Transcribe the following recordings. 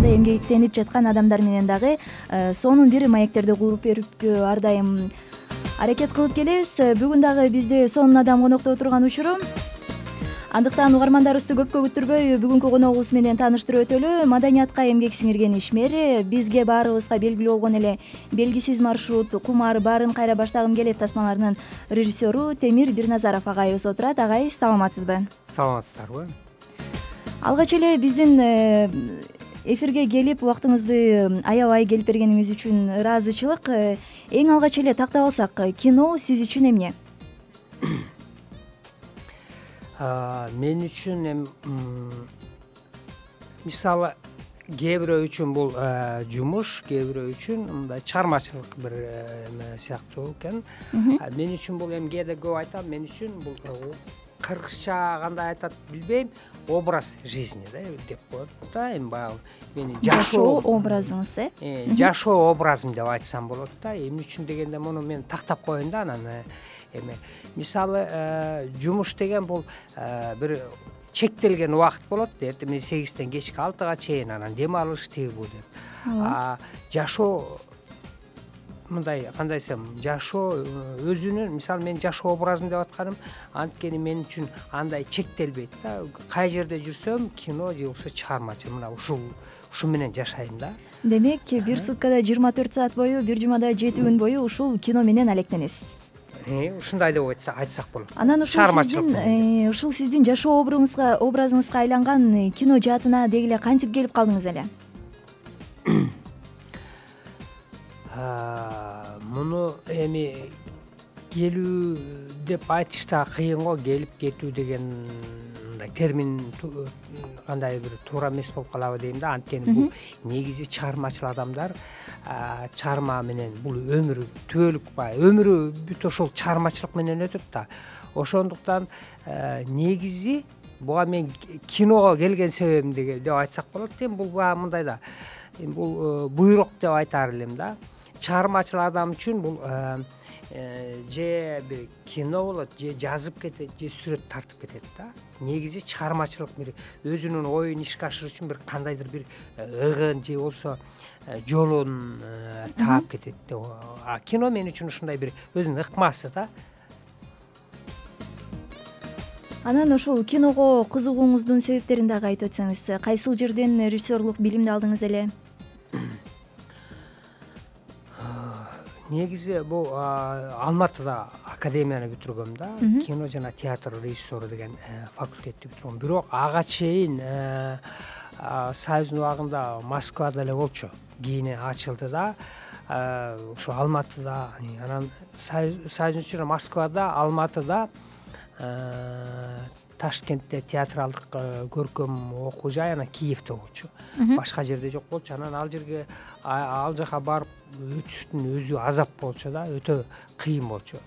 ушундай эмгектенип жаткан адамдар менен дагы сонун бир маектерди куруп берүүгө ар дайым аракет кылып келебиз. Бүгүн дагы бизде сонун адам конокто отурган учуру. Андыктан угармандарыбызды көпкө күттүрбөй бүгүнкү коногубуз менен тааныштырып өтөлү. Маданиятка эмгек сиңирген ишмер, бизге баарыбызга белгилүү болгон эле белгисиз маршрут, кумар, баарын кайра баштагым келет тасмаларынын режиссеру Темир Бирназаров агайыбыз отурат. Агай, саламатсызбы? Саламатсыздарбы? Алгач эле биздин эфирге келип убактыңызды аябай келип бергениңиз үчүн ыраазычылык. Эң алгач эле тактап алсак, кино сиз үчүн эмне? Мен үчүн мисалы кээ бирөө үчүн бул жумуш, кээ бирөө үчүн мындай чыгармачылык бир сыяктуу экен. Мен үчүн бул кээде көп айтам, мен үчүн бул кыргызча кандай айтат билбейм, образ жизни деп коет да. Баягы менин жашоо образыңыз, жашоо образым деп айтсам болот да. Эмне үчүн дегенде муну мен тактап коеюн да. Анан мисалы жумуш деген бул бир чектелген убакыт болот. Эртең 8-тен кечки 6-га чейин анан дем алыш тигибу деп. Жашоо мындай кандай десем, жашоо өзүнүн, мисалы мен жашоо образым деп атканым анткени мен үчүн андай чектелбейт да. Кай жерде жүрсөм, кино же болбосо чыгармачы мына ушу менен жашайм да. Демек, бир суткада 24 саат бою, бир жумада 7 күн бою ушул кино менен алектенесиз. Ушундай деп айтсак болот. Анан ушул сиздин жашоо образыңызга айланган кино жаатына деги эле кантип келип калдыңыз эле? Муну келүү деп айтыш да кыйын го. Келип кетүү деген термин кандай бир туура эмес болуп калабы дейм да. Анткени бул негизи чыгармачыл адамдар чыгарма менен бул өмүрү түбөлүк өмүрү бүт ошол чыгармачылык менен өтөт да. Ошондуктан негизи буга мен киного келген себебим деп айтсак болот. Бул мындай да, бул буйрук деп айтар элем да. Чыгармачыл адам үчүн бул же бир кино болот, же жазып кетет, же сүрөт тартып кетет да. Негизи чыгармачылык бир өзүнүн оюн ишке ашыруу үчүн бир кандайдыр бир ыгын же болбосо жолун таап кетет да. Кино мен үчүн ушундай бир өзүнүн ыкмасы да. Анан ошол киного кызыгууңуздун себептерин дагы айтып өтсөңүз, кайсыл жерден режиссерлук билимди алдыңыз эле? Негизи бул Алматыда академияны бүтүргөм да. Кино жана театр режиссеру деген факультетти бүтүргөм. Бирок ага чейин Союздун убагында Москвада эле болчу. Кийин ачылды да. Ошо Алматыда, анан Союздун ичинде Москвада, Алматыда, Ташкентте театралдык көркөм окуу жай, анан Киевде болчу. Башка жерде жок болчу. Анан ал жака барып өтүштүн өзү азап болчу да, өтө кыйын болчу.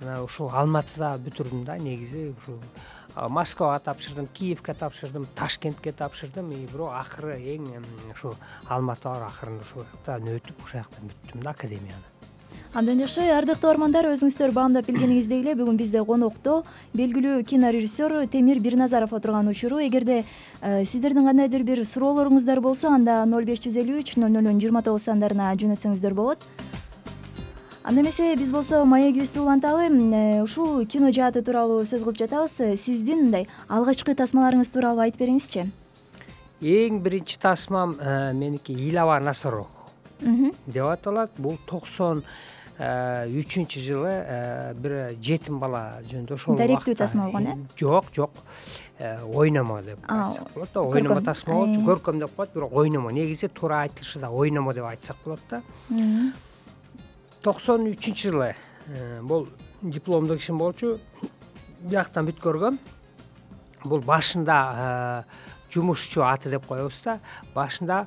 Анан ушул Алматыда бүтүрдүм да. Негизи ушу Москвага тапшырдым, Киевге тапшырдым, Ташкентке тапшырдым. Бирок акыры эң ушу Алматы бар, акырында ошол жактан өтүп, ошол жактан бүттүм да академияны. Андан жакшы, ардактуу угармандар, өзүңүздөр баамдап билгениңиздей эле бүгүн бизде конокто белгилүү кинорежиссер Темир Бирназаров отурган учуру. Эгерде сиздердин кандайдыр бир суроолоруңуздар болсо, анда 0553 0029 сандарына жөнөтсөңүздөр болот. Анда эмесе биз болсо маегибизди уланталы. Ушул кино жааты тууралуу сөз кылып жатабыз. Сиздин мындай алгачкы тасмаларыңыз тууралуу айтып бериңизчи. Эң биринчи тасмам меники Илава Насыров деп аталат. Бул 93 жылы бир жетим бала жөнүндө ошол даректүү тасма болгон, Жок, ойномо деп айтсак болот да. Ойномо тасма болчу, көркөм деп коет, бирок ойномо. Негизи туура айтылышы да ойномо деп айтсак болот да. 93-жылы бул дипломдук ишим болчу. Бияктан бүткөргөм. Бул башында жумушчу аты деп коебуз да. Башында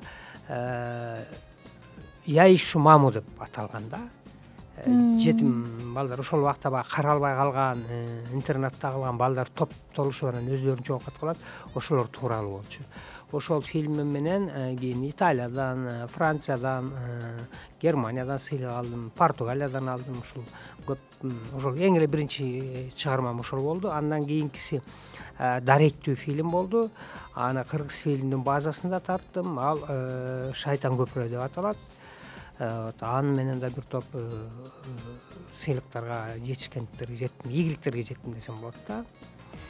Я ищу маму деп аталган да. Жетим балдар, ошол убакта баягы каралбай калган, интернатта калган балдар топтолушуп анан өздөрүнчө окуп калат. Ошолор тууралуу болчу. Ошол фильмим менен кийин Италиядан, Франциядан, Германиядан сыйлык алдым, Португалиядан алдым. Ушул көп, ошол эң эле биринчи чыгармам ошол болду. Андан кийинкиси даректүү фильм болду. Аны кыргыз фильмдин базасында тарттым. Ал Шайтан көпүрө деп аталат. Аны менен да бир топ сыйлыктарга, жетишкендиктерге жеттим, ийгиликтерге жеттим десем болот да.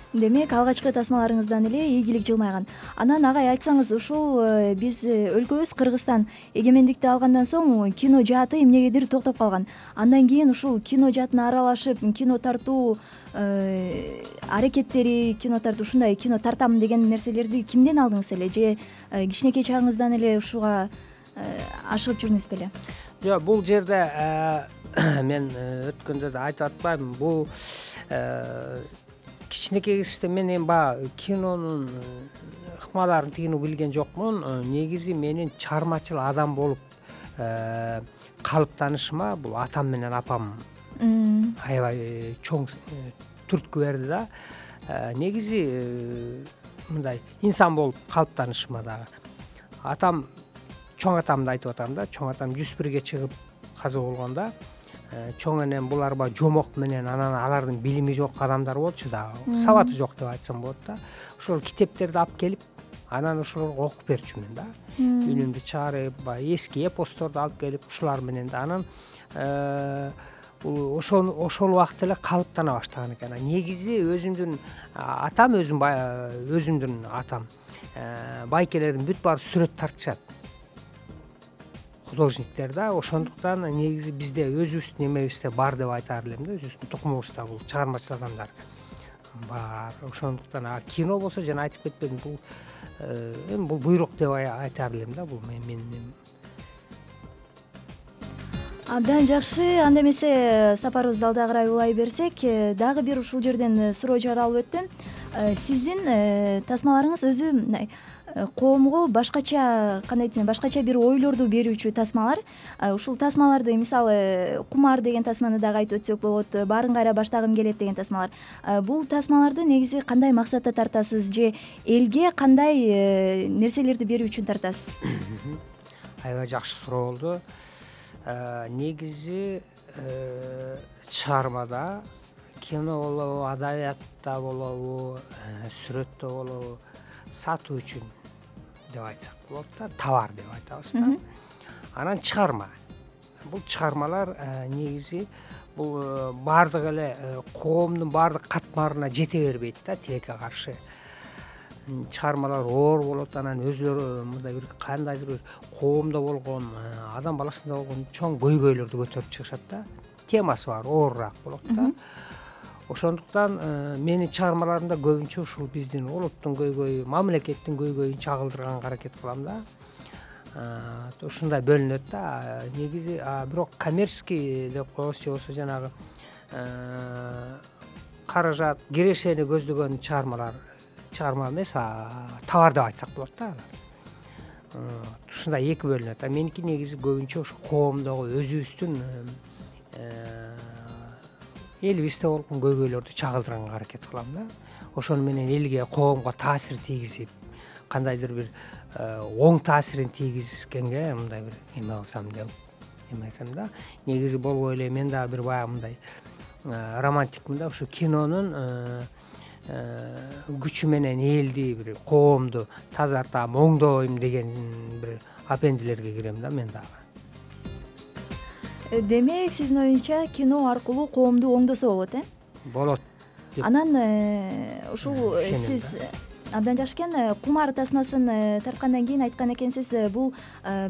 Демек, алгачкы тасмаларыңыздан эле ийгилик жылмайган. Анан агай, айтсаңыз, ушул биз өлкөбүз Кыргызстан эгемендикти алгандан соң кино жааты эмнегедир токтоп калган. Андан кийин ушул кино жаатына аралашып, кино тартуу аракеттери, кино тартуу, ушундай кино тартам деген нерселерди кимден алдыңыз эле, же кичинекей чагыңыздан эле ушуга ашыгып жүрдүңүз беле? Жок, бул жерде мен өткөндө да айтып атпаймынбы, бул кичинекей кезде мен эми баягы кинонун ыкмаларын тигини билген жокмун. Негизи менин чыгармачыл адам болуп калыптанышыма бул атам менен апам аябай чоң түрткү берди да. Негизи мындай инсан болуп калыптанышыма дагы атам, чоң атамды айтып атам да. Чоң атам 101ге чыгып каза болгондо чоң энем булар баягы жомок менен, анан алардын билими жок адамдар болчу да, сабаты жок деп айтсам болот да. Ошол китептерди алып келип, анан ошолорго окуп берчүмүн да. Үнүмдү чыгарып, баягы эски эпосторду алып келип, ушулар менен да анан ошол убакта эле калыптана баштаган экен. Негизи өзүмдүн атам, өзүмдүн атам байкелердин бүт баары сүрөт тартышат. Художниктер да, ошондуктан негизи бизде өзүбүздүн эмебизде бар деп айтаар элем да, өзүбүздүн тукумубузда бул чыгармачыл адамдар бар. Ошондуктан кино болсо жана айтып кетпедим, бул эми бул буйрук деп айтаар элем да, бул мен. Абдан жакшы. Анда эмесе сапарыбызды алдагырай улай берсек, дагы бир ушул жерден суроо жаралып өттү. Сиздин тасмаларыңыз өзү коомго башкача, кандай десем, башкача бир ойлорду берүүчү тасмалар. Ушул тасмаларды, мисалы, кумар деген тасманы дагы айтып өтсөк болот, баарын кайра баштагым келет деген тасмалар. Бул тасмаларды негизи кандай максатта тартасыз, же элге кандай нерселерди берүү үчүн тартасыз? Аябай жакшы суроо болду. Негизи чыгармада, кино болобу, адабиятта болобу, сүрөттө болобу, сатуу үчүн деп айтсак болот да, товар деп айтабыз да. Анан чыгарма. Бул чыгармалар негизи бул баардык эле коомдун баардык катмарына жете бербейт да, тилекке каршы. Чыгармалар оор болот, анан өзүлөрү мындай бир кандайдыр бир коомдо болгон, адам баласында болгон чоң көйгөйлөрдү көтөрүп чыгышат да. Темасы бар, оорураак болот да. Ошондуктан менин чыгармаларымда көбүнчө ушул биздин улуттун көйгөйү, мамлекеттин көйгөйүн чагылдырганга аракет кылам да. Ушундай бөлүнөт да. Негизи бирок коммерческий деп коебуз, же болбосо жанагы каражат, кирешени көздөгөн чыгарма эмес, товар деп айтсак болот да. Ушундай эки бөлүнөт. Меники негизи көбүнчө ушу коомдогу өзүбүздүн элибизде болгон көйгөйлөрдү чагылдырганга аракет кылам да. Ошону менен элге, коомго таасир тийгизип, кандайдыр бир оң таасирин тийгизгенге мындай бир эме кылсам деп эметем да. Негизи болбой эле мен дагы бир баягы мындай романтикмин да, ушу кинонун күчү менен элди, бир коомду тазартам, оңдойм деген бир апендилерге кирем да мен дагы. Демек, сиздин оюңузча кино аркылуу коомду оңдосо болот, Болот. Анан ушул сиз абдан жакшы экен. Кумар тасмасын тарткандан кийин айткан экенсиз, бул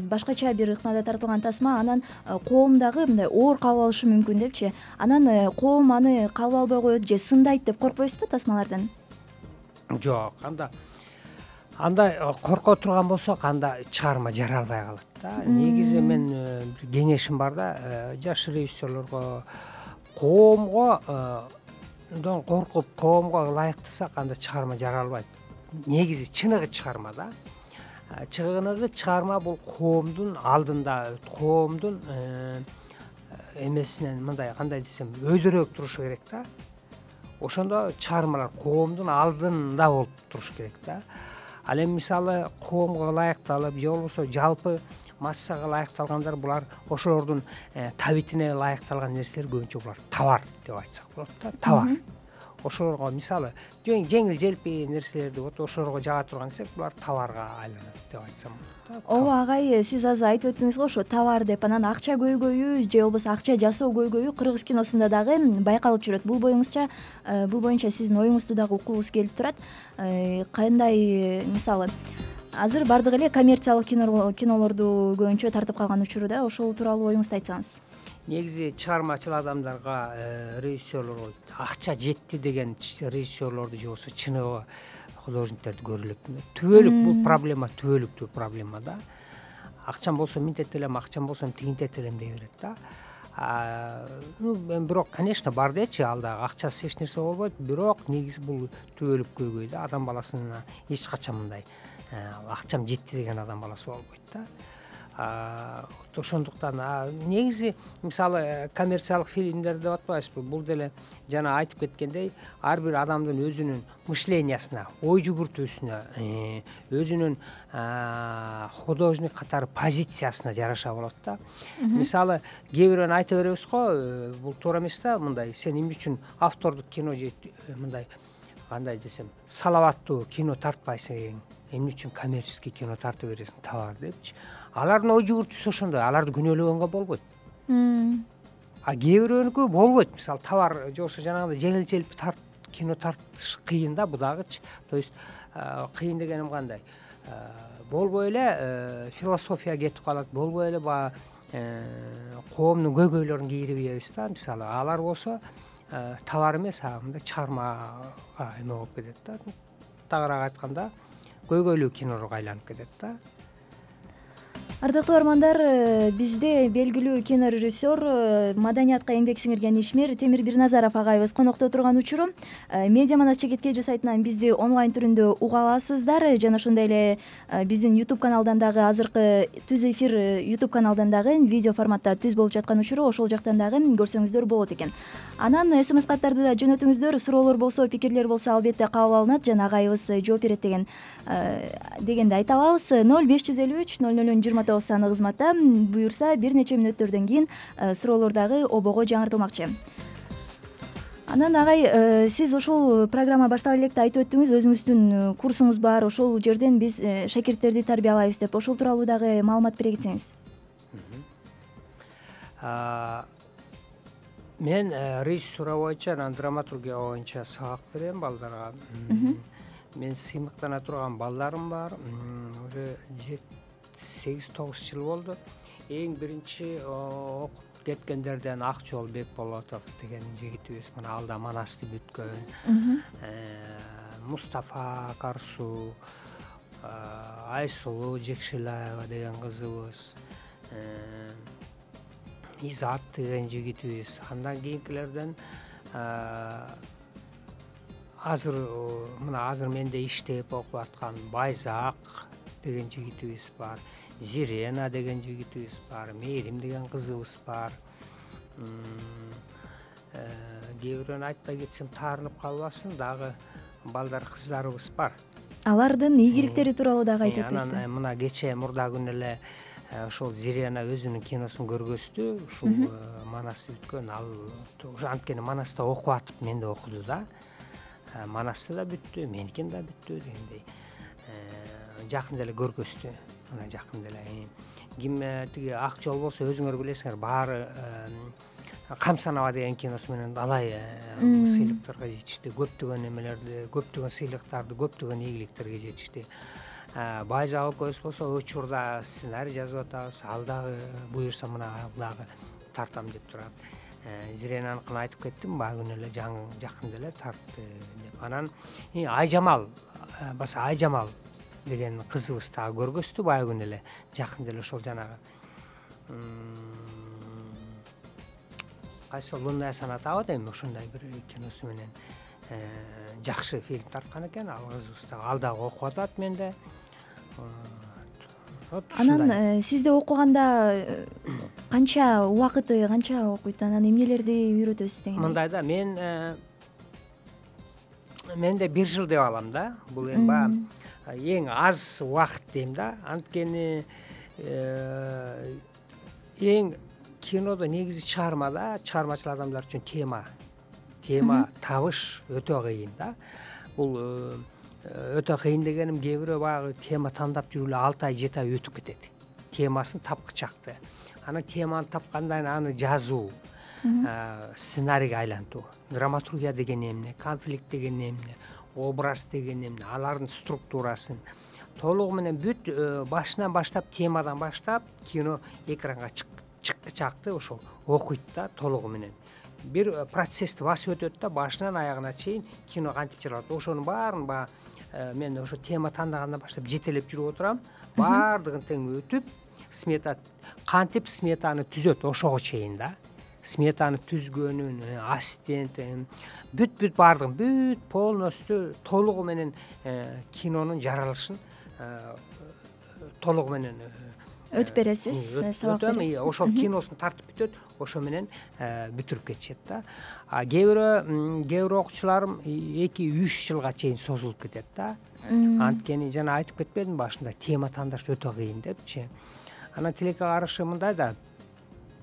башкача бир ыкмада тартылган тасма, анан коом дагы мындай оор кабыл алышы мүмкүн депчи. Анан коом аны кабыл албай коет же сындайт деп коркпойсузбу тасмалардан? Жок, андай корко турган болсок, анда чыгарма жаралбай калат да. Негизи мен кеңешим бар да, жаш режиссерлорго, коомго коркуп, коомго ылайыктасак, анда чыгарма жаралбайт. Негизи чыныгы чыгарма да. Чыныгы чыгарма бул коомдун алдында, коомдун эмесинен мындай, кандай десем, өйдөрөөк турушу керек да. Ошондо чыгармалар коомдун алдында болуп туруш керек да. Ал эми мисалы коомго ылайыкталып, же болбосо жалпы массага ылайыкталгандар, булар ошолордун табитине ылайыкталган нерселер көбүнчө булар товар деп айтсак болот да, товар. ошолорго мисалы жеңил желпи нерселерди вот ошолорго жага турган десек булар товарга айланат деп айтсам болот. ооба агай, сиз азыр айтып өттүңүз го ошо товар деп, анан акча көйгөйү же болбосо акча жасоо көйгөйү кыргыз киносунда дагы байкалып жүрөт. Бул боюнча сиздин оюңузду дагы уккубуз келип турат. Кандай мисалы азыр баардыгы эле коммерциялык кинолорду көбүнчө тартып калган учуру да, ошол тууралуу оюңузду айтсаңыз. Негизи чыгармачыл адамдарга режиссерлорго акча жетти деген режиссерлорду же болбосо чыныгы художниктерди көрүлөт. Түбөлүк бул проблема, түбөлүктүү проблема да. Акчам болсо минтет элем, акчам болсо тигинтет элем дей берет да. Мен бирок, конечно, бар дечи, ал дагы акчасыз эч нерсе болбойт, бирок негизи бул түбөлүк көйгөй да. Адам баласына эч качан мындай акчам жетти деген адам баласы болбойт да. Ошондуктан негизи мисалы коммерциялык фильмдер деп атпайбызбы, бул деле жана айтып кеткендей ар бир адамдын өзүнүн мышлениясына, ой жүгүртүүсүнө, өзүнүн художник катары позициясына жараша болот да. Мисалы кээ бирөөнү айта беребиз го, бул туура эмес да, мындай сен эмне үчүн автордук кино же мындай кандай десем салаваттуу кино тартпайсың, эмне үчүн коммерческий кино тартып бересиң, товар депчи. Алардын ой жүгүртүүсү ошондой, аларды күнөөлөгөнгө болбойт. Кээ бирөөнүкү болбойт. Мисалы товар же болбосо жанагындай жеңил желпи кино тартыш кыйын да, будагычы. То есть кыйын дегеним кандай? Болбой эле философия кетип калат, болбой эле баягы коомдун көйгөйлөрүн кийрибейбиз да. Мисалы алар болсо товар эмес, мындай чыгармага эме болуп кетет да. Тагыраак айтканда көйгөйлүү кинорго айланып кетет да. Ардактуу армандар, бизде белгилүү кинорежиссер, маданиятка эмгек сиңирген ишмер Темир Бирназаров агайыбыз конокто турган учуру. Медиа манас чекит KG сайтынан бизди онлайн түрүндө уга аласыздар жана ошондой эле биздин YouTube каналдан дагы азыркы түз эфир YouTube каналдан дагы видео форматта түз болуп жаткан учуру ошол жактан дагы көрсөңүздөр болот экен. Анан SMS каттарды да жөнөтүңүздөр, суроолор болсо, пикирлер болсо албетте кабыл алынат жана агайыбыз жооп берет дегенди айта алабыз. 0553 0029 саны кызматта, буюрса бир нече мүнөттөрдөн кийин суроолор дагы обого жаңыртылмакчы. Анан агай, сиз ошол программа баштала электе айтып өттүңүз, өзүңүздүн курсуңуз бар, ошол жерден биз шакирттерди тарбиялайбыз деп, ошол тууралуу дагы маалымат бере кетсеңиз. Мен режиссура боюнча, анан драматургия боюнча сабак берем балдарга. Мен сыймыктана турган балдарым бар. Уже 8-9 жыл болду. Эң биринчи окуп кеткендерден Акжол Бекболотов деген жигитибиз мына алда Манасты бүткөн. Мустафа Карсу, Айсулуу Жекшилаева деген кызыбыз, Изат деген жигитибиз. Андан кийинкилерден азыр менде иштеп окуп аткан Байзак деген жигитибиз бар, Зирена деген жигитибиз бар, Мээрим деген кызыбыз бар. Кээ бирөөнү айтпай кетсем таарынып калбасын, дагы балдар кыздарыбыз бар. Алардын ийгиликтери тууралуу дагы айтып өтпөйсүзбү? Анан мына кечээ мурда күнү эле ошол Зирена өзүнүн киносун көргөздү. Ушул Манасты бүткөн, ал анткени Манаста окуп атып менде окуду да. Манасты да бүттү, меникин да бүттү дегендей. Жакында эле көргөздү. Мына жакында эле. Ким тиги Акжол болсо өзүңөр билесиңер, баары Камсанова деген киносу менен алай сыйлыктарга жетишти. Көптөгөн эмелерди, көптөгөн сыйлыктарды, көптөгөн ийгиликтерге жетишти. Байзак экөөбүз болсо учурда сценарий жазып атабыз. Ал дагы буюрса мына дагы тартам деп турат. Зиренаныкын айтып кеттим, баягы күнү эле жакында эле тартты деп. Анан Айжамал, баса Айжамал деген кызыбыз дагы көргөздү баягы күнү эле. Жакында эле ошол жанагы кайсы Лунная соната дейм, ошондой бир киносу менен жакшы фильм тарткан экен. Ал кызыбыз дагы ал дагы окуп атат менде. Анан сизде окуганда канча убакыты, канча окуйт, анан эмнелерди үйрөтөсүз деген? Мындай да, менде 1 жыл деп алам да. Бул эми баягы эң аз убакыт дейм да. Анткени эң кинодо негизи чыгармада, чыгармачыл адамдар үчүн тема тема табыш өтө кыйын да. Бул өтө кыйын дегеним, кээ бирөө баягы тема тандап жүрүп эле 6 ай 7 ай өтүп кетет. Темасын тапкычакты. Анан теманы тапкандан аны жазуу, сценарийге айлантуу. Драматургия деген эмне, конфликт деген эмне, образ деген эмне, алардын структурасын толугу менен бүт башынан баштап, темадан баштап кино экранга чыккычакты ошол окуйт да толугу менен. Бир процессти басып өтөт да, башынан аягына чейин кино кантип чыгарылат. Ошонун баарын мен ошо тема тандагандан баштап жетелеп жүрүп отурам. Баардыгын тең өтүп, смета кантип сметаны түзөт ошого чейин да. Сметаны түзгөнүн, ассистенти, бүт баардыгын полностью толугу менен кинонун жаралышын толугу менен өтүп бересиз, сабак бересиз. Ошол киносун тартып бүтөт, ошо менен бүтүрүп кетишет да. Кээ бир окуучуларым 2-3 жылга чейин созулуп кетет да. Анткени жана айтып кетпедимби башында, тема тандаш өтө кыйын депчи. Анан тилекке каршы мындай да,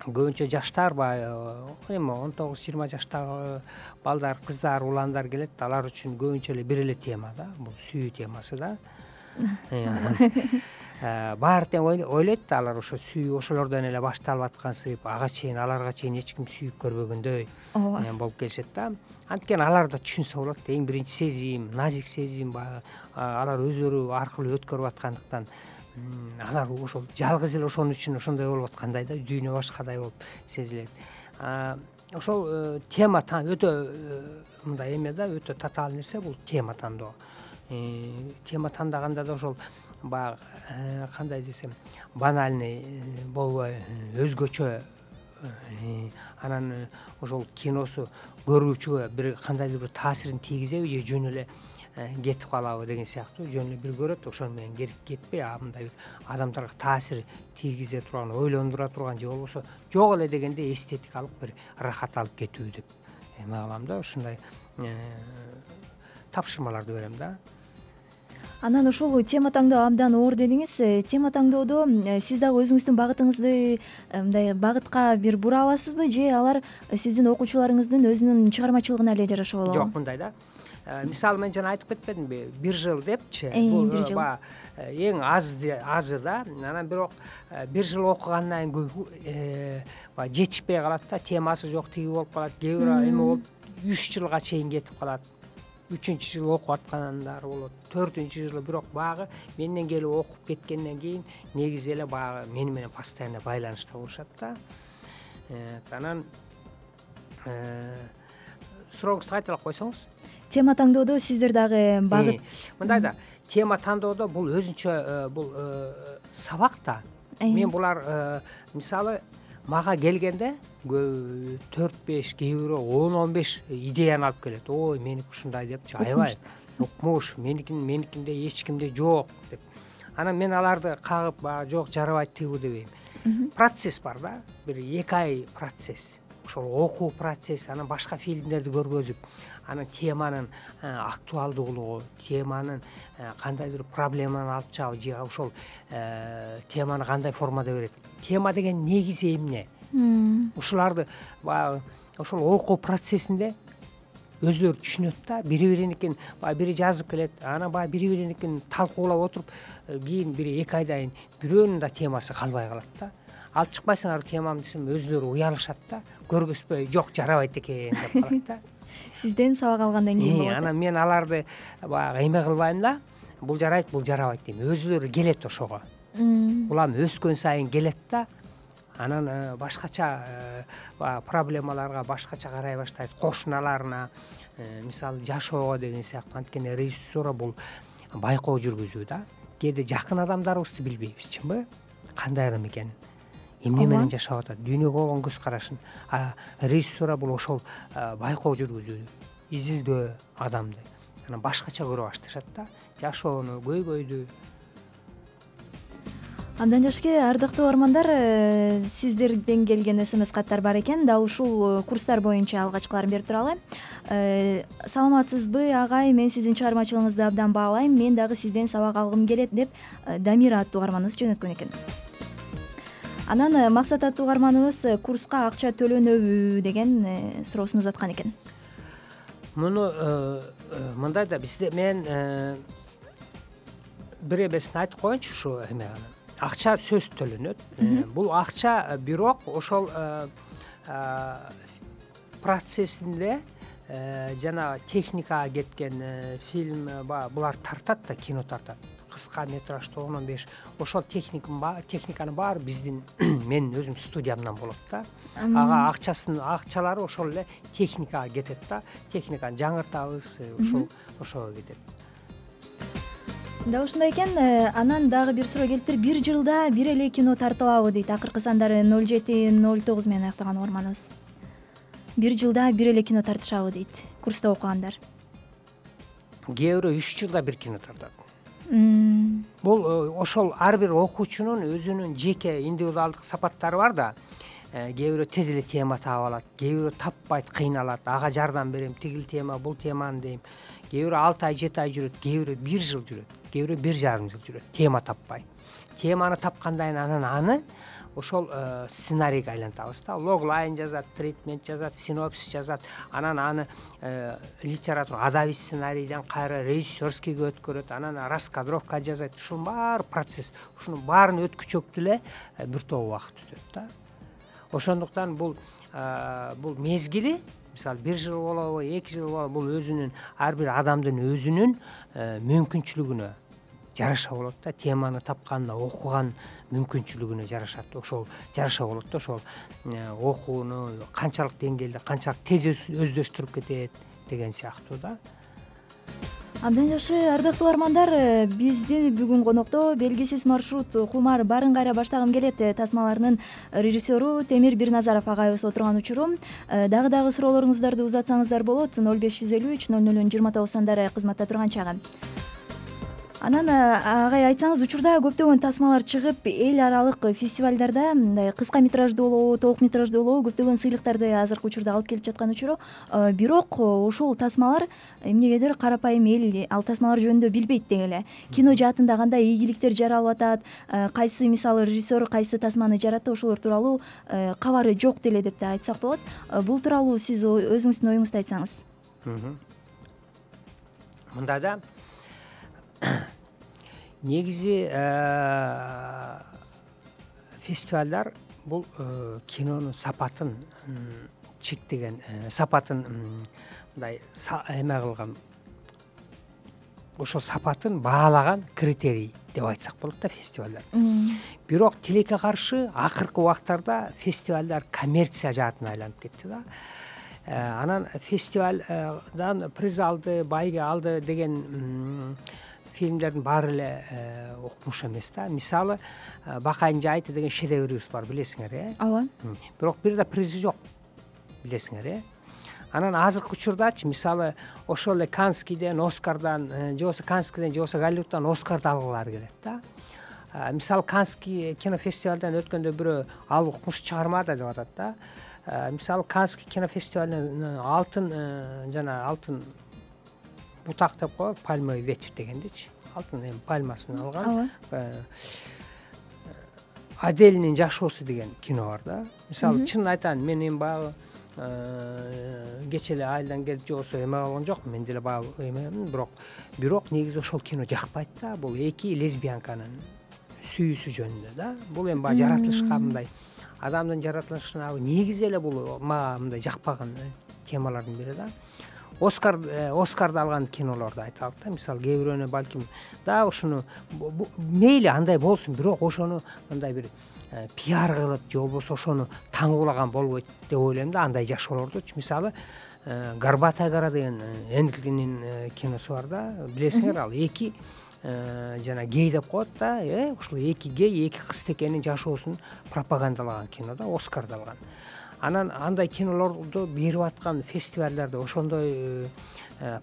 көбүнчө жаштар эми 19-20 жаштагы балдар, кыздар, уландар келет. Алар үчүн көбүнчө эле бир эле тема да, бул сүйүү темасы да. Баары тең ойлойт да, алар ошо сүйүү ошолордон эле башталып аткансып, аларга чейин эч ким сүйүп көрбөгөндөй болуп келишет да. Анткени алар да түшүнсө болот. Эң биринчи сезим, назик сезим, алар өздөрү аркылуу өткөрүп аткандыктан алар ошол жалгыз эле ошон үчүн ошондой болуп аткандай да, дүйнө башкадай болуп сезилет. Ошол тема өтө мындай эме да, өтө татаал нерсе бул тема тандоо. Тема тандаганда да ошол баягы кандай десем, банальный болбой, өзгөчө, анан ошол киносу көрүүчүгө бир кандайдыр бир таасирин тийгизеби же жөн эле кетип калабы деген сыяктуу, жөн эле бир көрөт, ошону менен кетпей, мындай адамдарга таасир тийгизе турган, ойлондура турган же болбосо жок эле дегенде эстетикалык бир ырахат алып кетүү деп эме кылам да. Ушундай тапшырмаларды берем да. Анан ушул тема таңдоо абдан оор дедиңиз. Тема таңдоодо сиз дагы өзүңүздүн багытыңызды мындай багытка бир бура аласызбы, же алар сиздин окуучуларыңыздын өзүнүн чыгармачылыгына эле жараша болобу? Жок, мындай да. Мисалы мен жана айтып кетпедимби, 1 жыл депчи. Бул 1 жыл эң азы да. Анан бирок 1 жыл окугандан кийин жетишпей калат да, темасы жок, тиги болуп калат. Кээ бир эме болуп 3 жылга чейин кетип калат. 3-чү жыл окуп аткандар болот, 4-чү жылы. Бирок баягы менден келип окуп кеткенден кийин негизи эле баягы мени менен постоянно байланышта болушат да. Анан сурооңузду кайталап койсоңуз. Тема таңдоодо сиздер дагы багыт мындай да, тема тандоодо бул өзүнчө бул сабак да. Мен булар мисалы мага келгенде 4-5, кээ бирөө 10-15 идеяны алып келет. Ой, меники ушундай депчи, аябай укмуш, меникинде эч кимде жок деп. Анан мен аларды кагып, жок жарабайт тигүү дебейм. Процесс бар да, бир 2 ай процесс. Ошол окуу процесси, анан башка фильмдерди көргөзүп, анан теманын актуалдуулугу, теманын кандайдыр проблеманы алып чыгабы, же ошол теманы кандай формада берет. Тема деген негизи эмне? Ушуларды баягы ошол окуу процессинде өзүлөрү түшүнөт да. Бири-бириникин бири жазып келет, анан бири-бириникин талкуулап отуруп, кийин 1-2 айдан кийин бирөөнүн да темасы калбай калат да. Алып чыкпайсыңар темам десем, өзүлөрү уялышат да. Көргөзбөй, жок жарабайт экен деп калат да. Сизден сабак алгандан кийин болот. Анан мен аларды баягы эме кылбайм да. Бул жарайт, бул жарабайт дейм. Өзүлөрү келет ошого. Улам өскөн сайын келет да. Анан башкача проблемаларга башкача карай баштайт, кошуналарына, мисалы жашоого деген сыяктуу. Анткени режиссура бул байкоо жүргүзүү да. Кээде жакын адамдарыбызды билбейбиз, чынбы? Кандай адам экенин, эмне менен жашап атат, дүйнөгө болгон көз карашын. Режиссура бул ошол байкоо жүргүзүү, изилдөө адамды. Анан башкача көрө башташат да, жашоону, көйгөйдү. Абдан жакшы. Ардактуу угармандар, сиздерден келген СМС каттар бар экен. Дал ушул курстар боюнча алгачкыларын берип туралы. Саламатсызбы, агай? Мен сиздин чыгармачылыгыңызды абдан баалайм. Мен дагы сизден сабак алгым келет деп Дамира аттуу угарманыбыз жөнөткөн экен. Анан Максат аттуу угарманыбыз курска акча төлөнөбү деген суроосун узаткан экен. муну мындай да бизде мен бир эмесин айтып коеюнчу, ушу эме акча сөзсүз төлөнөт. Бул акча бирок ошол процессинде жана техникага кеткен фильм булар тартат да, кино тартат. Кыска метражды 10-15 ошол техниканын баары биздин менин өзүм студиямдан болот да. Ага акчалары ошол эле техникага кетет да. Техниканы жаңыртабыз, ошого кетет. Да ушундай экен. Анан дагы бир суроо келиптир. Бир жылда бир эле кино тартылабы дейт. Акыркы сандары 07-09 менен аяктаган угарманыбыз. Бир жылда бир эле кино тартышабы дейт курста окугандар. Кээ бирөө 3 жылда бир кино тартат. Бул ошол ар бир окуучунун өзүнүн жеке индивидуалдык сапаттары бар да. Кээ бирөө тез эле тема таап алат, кээ бирөө таппайт, кыйналат. Ага жардам берем, тигил тема, бул теманы дейм. Кээ бирөө 6 ай, 7 ай жүрөт, кээ бирөө 1 жыл жүрөт, кээ бирөө 1,5 жыл жүрөт, тема таппай. Теманы тапкандан кийин анан аны ошол сценарийге айлантабыз да. Логлайн жазат, тритмент жазат, синопсис жазат. Анан аны литература, адабий сценарийден кайра режиссерскийге өткөрөт, анан раскадровка жасайт. Ушунун баары процесс. Ушунун баарын өткүчөктү эле бир топ убакыт өтөт да. Ошондуктан бул мезгили, мисалы 1 жыл болобу, 2 жыл болобу, бул өзүнүн ар бир адамдын өзүнүн мүмкүнчүлүгүнө жараша болот да. Теманы тапканына, окуган мүмкүнчүлүгүнө жарашат. Ошол жараша болот да. Ошол окууну канчалык деңгээлде, канчалык тез өздөштүрүп кетет деген сыяктуу да. Абдан жакшы, ардактуу угармандар, биздин бүгүн конокто белгисиз маршрут кумар барын кайра баштагым келет тасмаларынын режиссеру Темир Бирназаров агайыбыз отурган учуру. Дагы суроолоруңуздарды узатсаңыздар болот. 0553 00 29 сандары кызматта турган чагы. Анан агай айтсаңыз, учурда көптөгөн тасмалар чыгып, эл аралык фестивалдарда мындай кыска метражды болобу, толук метражды болобу көптөгөн сыйлыктарды азыркы учурда алып келип жаткан учуру. Бирок ошол тасмалар эмнегедир карапайым эл ал тасмалар жөнүндө билбейт деги эле. Кино жаатында кандай ийгиликтер жаралып атат, кайсы мисалы режиссер кайсы тасманы жаратты, ошолор тууралуу кабары жок деле деп да айтсак болот. Бул тууралуу сиз өзүңүздүн оюңузду айтсаңыз. Мында да негизи фестивалдар бул кинонун сапатын чектеген, сапатын мындай эме кылган, ошол сапатын баалаган критерий деп айтсак болот да фестивалдар. Бирок тилекке каршы акыркы убактарда фестивалдар коммерция жаатына айланып кетти да. Анан фестивалдан приз алды, байге алды деген фильмдердин баары эле укмуш эмес да. Мисалы Бакайдын жайыты деген шедеврибиз бар, билесиңер, Ооба. Бирок бир да призи жок, билесиңер, Анан азыркы учурдачы мисалы ошол эле Канскийден, Оскардан, же болбосо Канскийден, же болбосо Голливудтан Оскарды алгылары келет да. Мисалы Канский кинофестивалдан өткөндө бирөө ал укмуш чыгармады деп атат да. Мисалы Канский кинофестивалынан алтын бутак деп коет, пальмовый ветвь дегендичи. Алтын пальмасын алган. Аделинин жашоосу деген кино бар да. Мисалы чын айтайын, мен эми баягы кечээ эле айылдан келип же болбосо эме болгон жокмун, мен деле баягы бирок негизи ошол кино жакпайт да. Бул эки лесбиянканын сүйүүсү жөнүндө да. Бул эми баягы жаратылышка мындай адамдын жаратылышына негизи эле бул мага мындай жакпаган темалардын бири да. Оскарды алган кинолорду айталык да. Мисалы кээ бирөөнө балким да ушуну мейли андай болсун, бирок ошону мындай бир пиар кылып же болбосо ошону таңуулаган болбойт деп ойлойм да. Андай жашоолордучу мисалы Горбатая гора деген Эндлинин киносу бар да. Билесиңер, ал эки жана гей деп коет да. Ушул эки гей, эки кызтекенин жашоосун пропагандалаган кино да, Оскарды алган. Анан андай кинолорду берип аткан фестивалдарда ошондой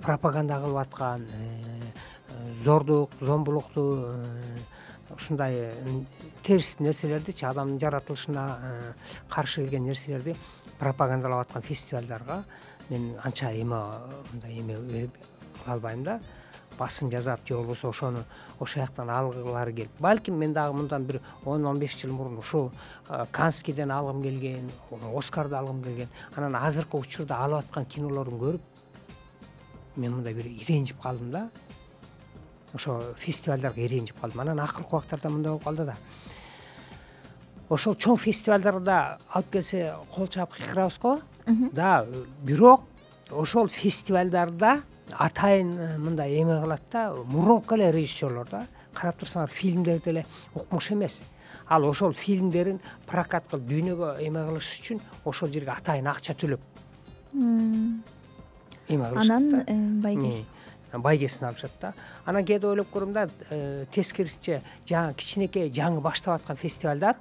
пропаганда кылып аткан зордук, зомбулукту, ушундай терс нерселердичи, адамдын жаратылышына каршы келген нерселерди пропагандалап аткан фестивалдарга мен анча мындай эме кыла албайм да. Басым жазап же болбосо ошону ошол жактан алгылары келип. Балким мен дагы мындан бир 10-15 жыл мурун ушул Канскийден алгым келген, Оскарды алгым келген, анан азыркы учурда алып аткан кинолорун көрүп мен мындай бир иренжип калдым да. Ошо фестивалдарга иренжип калдым. Анан акыркы убактарда мындай болуп калды да. Ошол чоң фестивалдарда алып келсе кол чаап кыйкырабыз го. Да, бирок ошол фестивалдарда атайын мындай эме кылат да, мурунку эле режиссерлор да. Карап турсаңар, фильмдер деле укмуш эмес. Ал ошол фильмдерин прокат кылып дүйнөгө эме кылыш үчүн ошол жерге атайын акча төлөп эме кылышат. Анан байгесин алышат да. Анан кээде ойлоп көрөм да, тескерисинче жаңы кичинекей жаңы баштап аткан фестивалдар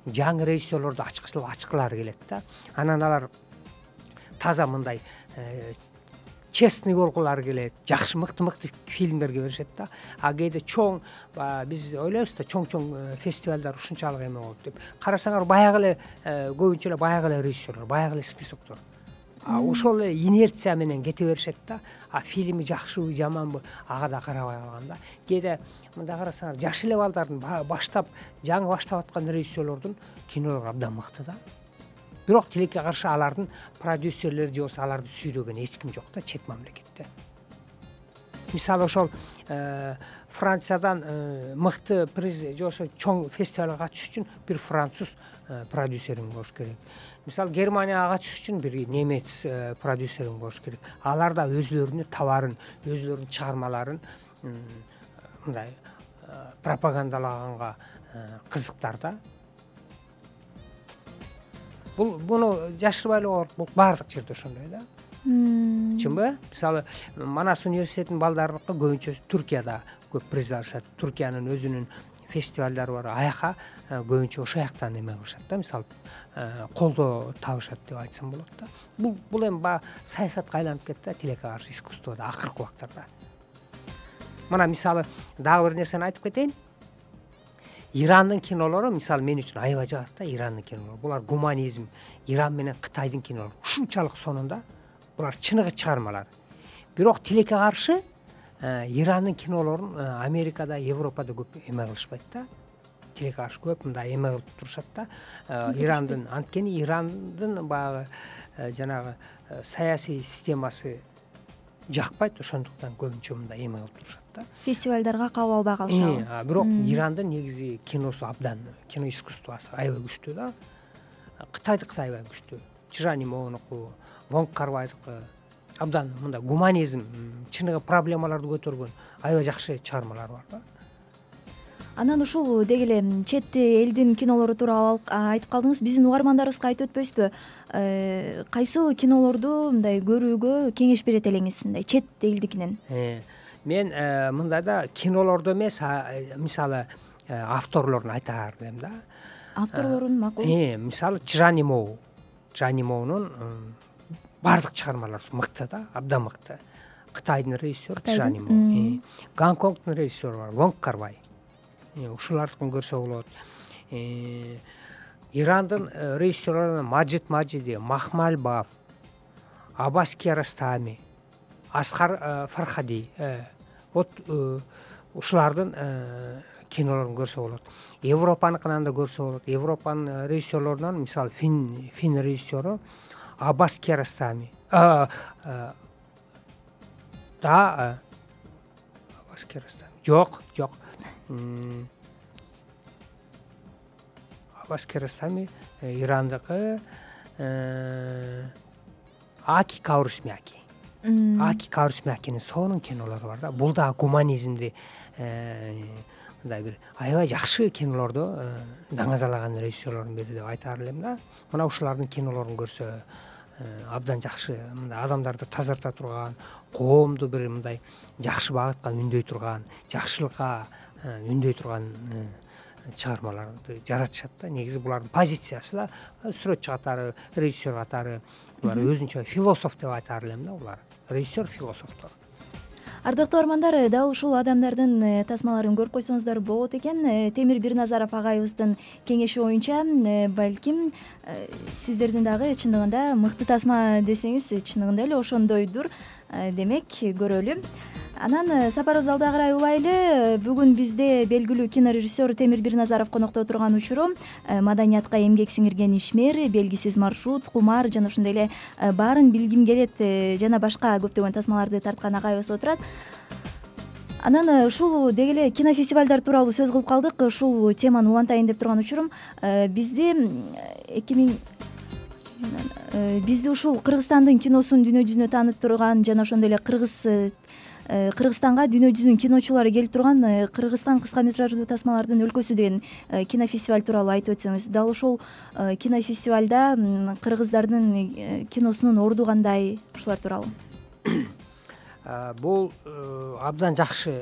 жаңы режиссерлорду ачкылары келет да. Анан алар таза мындай честный болгулары келет, жакшы мыкты фильмдерге беришет да. А кээде чоң, биз ойлойбуз да, чоң фестивалдар ушунчалык эме болот деп. Карасаңар, баягы эле көбүнчө эле баягы эле режиссерлор, баягы эле списоктор. Ошол эле инерция менен кете беришет да. А фильми жакшыбы, жаманбы, ага да карабай калган да. Кээде мындай карасаңар, жаш эле балдардын баштап, жаңы баштап аткан режиссерлордун кинолору абдан мыкты да. Бирок тилекке каршы алардын продюсерлери же болбосо аларды сүйрөгөн эч ким жок да чет мамлекетте. Мисалы ошол Франциядан мыкты же болбосо чоң фестивалга катышыш үчүн бир француз продюсерин болуш керек. Мисалы Германияга катышыш үчүн бир немец продюсерин болуш керек. Алар да өзлөрүнүн товарын, өзлөрүнүн чыгармаларын мындай пропагандалаганга кызыктар да. Буну жашырбай эле болот. Бул баардык жерде ошондой да. Чынбы? Мисалы, Манас университетинин балдарыныкы көбүнчө Түркияда көп приз алышат. Түркиянын өзүнүн фестивалдары бар. Аяка көбүнчө ошол жактан эме кылышат да. Мисалы, колдоо табышат деп айтсам болот да. Бул эми саясатка айланып кетти да, тилекке каршы искусствода акыркы убактарда. Мына мисалы дагы бир нерсени айтып кетейин. Ирандын кинолору мисалы мен үчүн аябай жагат да, Ирандын кинолору. Булар гуманизм, Иран менен Кытайдын кинолору ушунчалык сонунда. Булар чыныгы чыгармалар. Бирок тилекке каршы Ирандын кинолорун Америкада, Европада көп эме кылышпайт да. Тилекке каршы көп мындай эме кылып турушат да. Ирандын, анткени Ирандын баягы жанагы саясий системасы жакпайт, ошондуктан көбүнчө мындай эме кылып турушат да. Фестивалдарга кабыл албай калышабы. Бирок Ирандын негизи киносу абдан, кино искусствосу аябай күчтүү да. Кытайдыкы аябай күчтүү. Чжанимоунуку, Вонг Кар-вайдыкы абдан мындай гуманизм, чыныгы проблемаларды көтөргөн аябай жакшы чыгармалар бар да. Анан ушул деги эле чет элдин кинолору тууралуу айтып калдыңыз. Биздин угармандарыбызга айтып өтпөйсүзбү? Кайсыл кинолорду мындай көрүүгө кеңеш берет элеңиз, мындай чет элдикинен? Мен мындай да кинолорду эмес, мисалы авторлорун айтаар элем да. Авторлорун макул. Мисалы Чжанимоунун баардык чыгармалары мыкты да, абдан мыкты. Кытайдын режиссеру Чжанимоу, Гонконгдун режиссеру бар, Вонг Кар-вай. Ушулардыкын көрсө болот. Ирандын режиссерлорунан Маджид Маджиди, Махмал Баф, Аббас Киаростами, Аскар Фархади. Вот ушулардын кинолорун көрсө болот. Европаныкынан да көрсө болот. Европанын режиссерлорунан мисалы фин режиссеру Аббас Киаростами. Аббас Киаростами. Жок. Аббас Киаростами Ирандыкы Аки Каурисмяки. Аки Каурисмякинин сонун кинолору бар да. Бул да гуманизмди мындай бир аябай жакшы кинолорду даңазалаган режиссерлордун бири деп айтаар элем да. Мына ушулардын кинолорун көрсө абдан жакшы, мындай адамдарды тазарта турган, коомду бир мындай жакшы багытка үндөй турган, жакшылыкка үндөй турган чыгармаларды жаратышат да. Негизи булардын позициясы да сүрөтчү катары, режиссер катары булар өзүнчө философ деп айтаар элем да. Булар режиссер, философтор. Ардактуу армандар, дал ушул адамдардын тасмаларын көрүп койсоңуздар болот экен. Темир Бирназаров агайыбыздын кеңеши боюнча балким сиздердин дагы чындыгында мыкты тасма десеңиз чындыгында эле ошондойдур. Демек көрөлү. Анан сапарыбызды алда карай улайлы. Бүгүн бизде белгилүү кинорежиссер Темир Бирназаров конокто отурган учуру маданиятка эмгек сиңирген ишмер, белгисиз маршрут, кумар жана ошондой эле баарын билгим келет жана башка көптөгөн тасмаларды тарткан агайыбыз отурат. Анан ушул деги эле кинофестивалдар тууралуу сөз кылып калдык. Ушул теманы улантайын деп турган учурум бизди ушул Кыргызстандын киносун дүйнө жүзүнө таанытып турган жана ошондой эле Кыргызстанга дүйнө жүзүнүн киночулары келип турган Кыргызстан кыска метраждуу тасмалардын өлкөсү деген кинофестиваль тууралуу айтып өтсөңүз. Дал ошол кинофестивалда кыргыздардын киносунун орду кандай, ушулар тууралуу? Бул абдан жакшы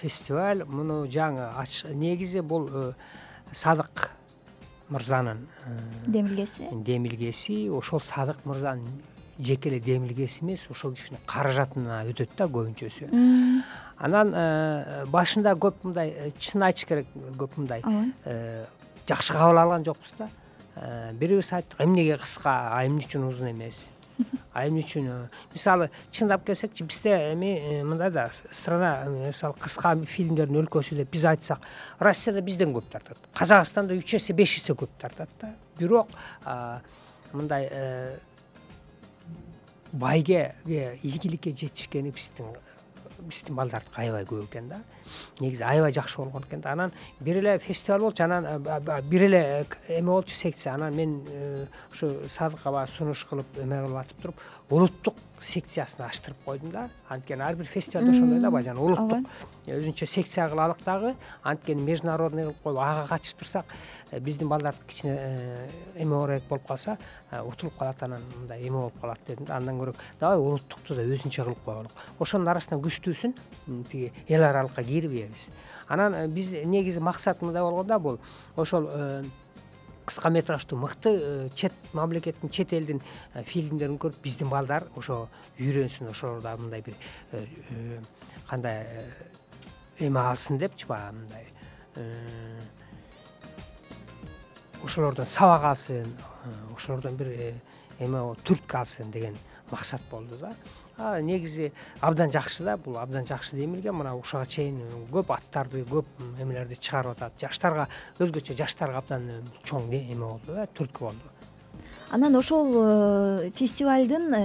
фестиваль. Муну жаңы негизи бул Садык мырзанын демилгеси. Ошол Садык мырзанын жеке эле демилгеси эмес, ошол кишинин каражатына өтөт да көбүнчөсү. Анан башында көп мындай, чын айтыш керек, көп мындай жакшы кабыл алган жокпуз да. Бирибиз айттык, эмнеге кыска, эмне үчүн узун эмес? Эмне үчүн? Мисалы, чындап келсекчи, бизде мындай да страна, мисалы, кыска фильмдердин өлкөсү деп биз айтсак, Россияда бизден көп тартат. Казакстанда 3 эсе, 5 эсе көп тартат да. Бирок мындай байге, ийгиликке жетишкени биздин балдардыкы аябай көп экен да. Негизи аябай жакшы болгон экен да. Анан бир эле фестиваль болчу, анан бир эле эме болчу, секция. Анан мен ушу Садыкка сунуш кылып эме кылып атып туруп, улуттук секциясын аштырып койдум да. Анткени ар бир фестивалда ошондой да, баягы улуттук өзүнчө секция кылалык дагы. Анткени международный кылып коюп ага катыштырсак, биздин балдар кичине эме орээк болуп калса, утулуп калат, анан мындай эме болуп калат дедим да. Андан көрө давай улуттукту да өзүнчө кылып коелук. Ошонун арасынан күчтүүсүн тиги эл аралыкка кирбейбиз. Анан биз негизи максат мындай болгон да, бул ошол кыска метраждуу мыкты чет мамлекеттин, чет элдин фильмдерин көрүп, биздин балдар ошо үйрөнсүн, ошолорда мындай бир кандай эме алсын депчи, баягы мындай ошолордон сабак алсын, ошолордон бир эме түрткү алсын деген максат болду да. Негизи абдан жакшы да, бул абдан жакшы демилген. Мына ушуга чейин көп аттарды, көп эмелерди чыгарып атат. Жаштарга, өзгөчө жаштарга абдан чоң эме болду да, түрткү болду. Анан ошол фестивалдын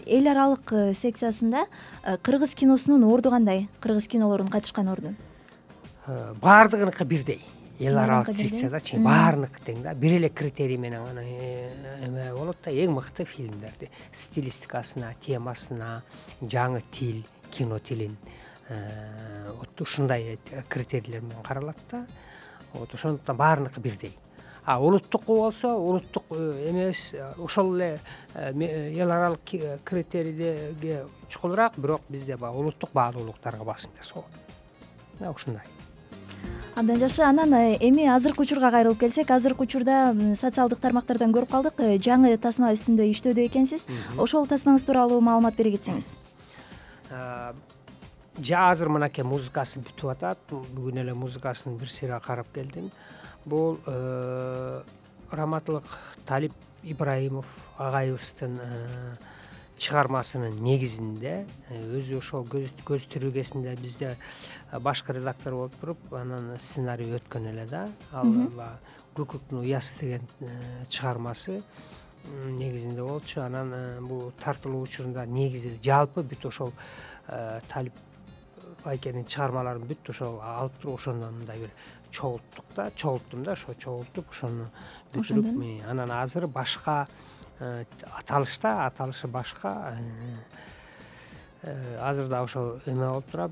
эл аралык секциясында кыргыз киносунун орду кандай? Кыргыз кинолорунун катышкан орду? Баардыгыныкы бирдей. Эл аралык секцияда баарыныкы тең да. Бир эле критерий менен эме болот да, эң мыкты фильмдерди стилистикасына, темасына, жаңы тил, кино тилин ушундай критерийлер менен каралат да. Ошондуктан баарыныкы бирдей. Улуттук болсо, улуттук эмес, ошол эле эл аралык критерийге чукулураак, бирок бизде баягы улуттук баалуулуктарга басым жасалат. Ушундай. Абдан жакшы. Анан эми азыркы учурга кайрылып келсек, азыркы учурда социалдык тармактардан көрүп калдык, жаңы тасма үстүндө иштөөдө экенсиз. Ошол тасмаңыз тууралуу маалымат бере кетсеңиз. Азыр мынакей музыкасы бүтүп атат. Бүгүн эле музыкасын бир сыйра карап келдим. Бул Раматылык Талип Ибраимов агайыбыздын чыгармасынын негизинде, өзү ошол көз тирүүгесинде бизде башкы редактор болуп туруп, анан сценарий өткөн эле да. Ал Көкөктүн уясы деген чыгармасы негизинде болчу. Анан бул тартылуу учурунда негизи жалпы бүт ошол Талип байкенин чыгармаларын бүт ошол алып туруп, ошондон мындай бир чогулттум да, ошо чогултуп, ошону бүтүрүп, анан азыр башка аталышы башка. Азыр да ошо эме болуп турат.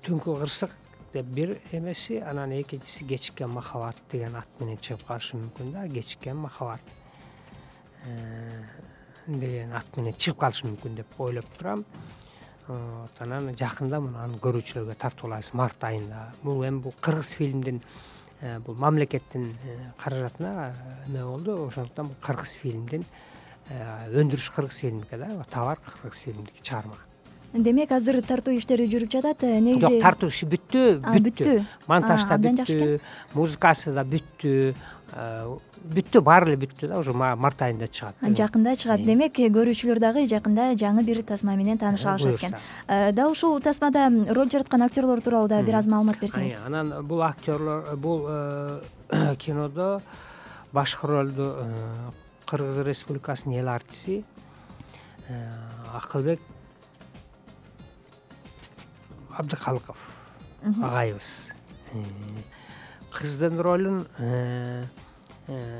Түнкү кырсык деп бир эмеси, анан экинчиси Кечиккен махабат деген ат менен чыгып калышы мүмкүн да. Кечиккен махабат деген ат менен чыгып калышы мүмкүн деп ойлоп турам. Анан жакында муну көрүүчүлөргө тартуулайбыз март айында. Бул эми кыргыз фильмдин, бул мамлекеттин каражатына эме болду. Ошондуктан кыргыз фильмдин өндүрүш кыргыз фильмдики да, товар кыргыз фильмдики чыгарма. Демек азыр тартуу иштери жүрүп жатат. Негизи жок, тартуу иши бүттү. Монтаж да абдан бүттү, музыкасы да бүттү, баары эле бүттү да, уже март айында чыгат. Жакында чыгат. Демек көрүүчүлөр дагы жакында жаңы бир тасма менен тааныша алышат экен. Дал ушул тасмада роль жараткан актерлор тууралуу да бир аз маалымат берсеңиз. Анан бул актерлор, бул кинодо башкы ролду Кыргыз Республикасынын эл артисти Акылбек Абдыкалыков агайыбыз. Кыздын ролун